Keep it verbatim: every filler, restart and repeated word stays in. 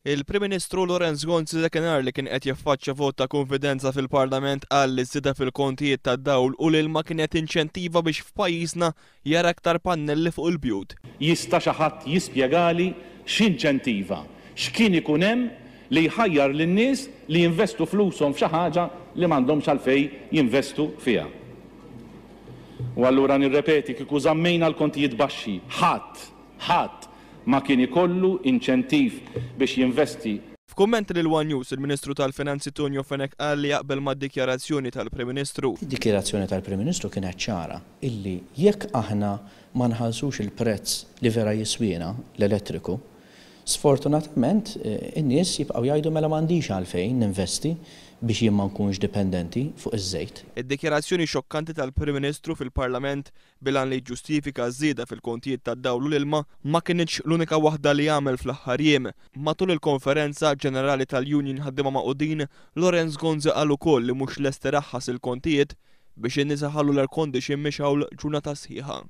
Il-Prim Ministru Lawrence Gonzi, dakinhar li kien qed jaffaċċja vot ta' konfidenza fil-Parlament, qal li żieda fil-kontijiet tad-dawl u l-ilma kienet inċentiva biex f'pajjiżna jara aktar pannelli fuq il-bjut. Jista' xi ħadd jispjegali x'inċentiva, x'kien ikun hemm li jħajjar lin-nies li jinvestu flushom f'xi ħaġa li m'għandhomx għalfejn jinvestu fiha? U allura nirrepeti, kieku żammejna l-kontijiet baxxi, ħadd, ħadd ma kien ikollu inċentiv biex jinvesti. F'kummenti lil One News, il-Ministru tal-Finanzi Tonio Fenech qal li jaqbel mad-dikjarazzjoni tal-Prim Ministru. Id-dikjarazzjoni tal-Prim Ministru kienet ċara illi jekk aħna ma nħallsux il-prezz li vera jiswina l-elettriku, sfortunatament in-nies jibqgħu jgħidu, "Mela m'għandix għalfejn ninvesti biex jien ma nkunx dipendenti fuq iż-żejt." Id-dikjarazzjoni xokkanti tal-Prim Ministru fil-Parlament bil-għan li ġustifika żieda fil-kontijiet tad-dawl u l-ilma ma kinitx l-unika waħda li għamel fl-aħħar jiem. Matul il-konferenza ġenerali tal-Union Ħaddiema Magħqudin, Lawrence Gonzi qal ukoll li mhux lest iraħħas il-kontijiet biex in-nies iħallu l-air condition mixgħul ġurnata sħiħa.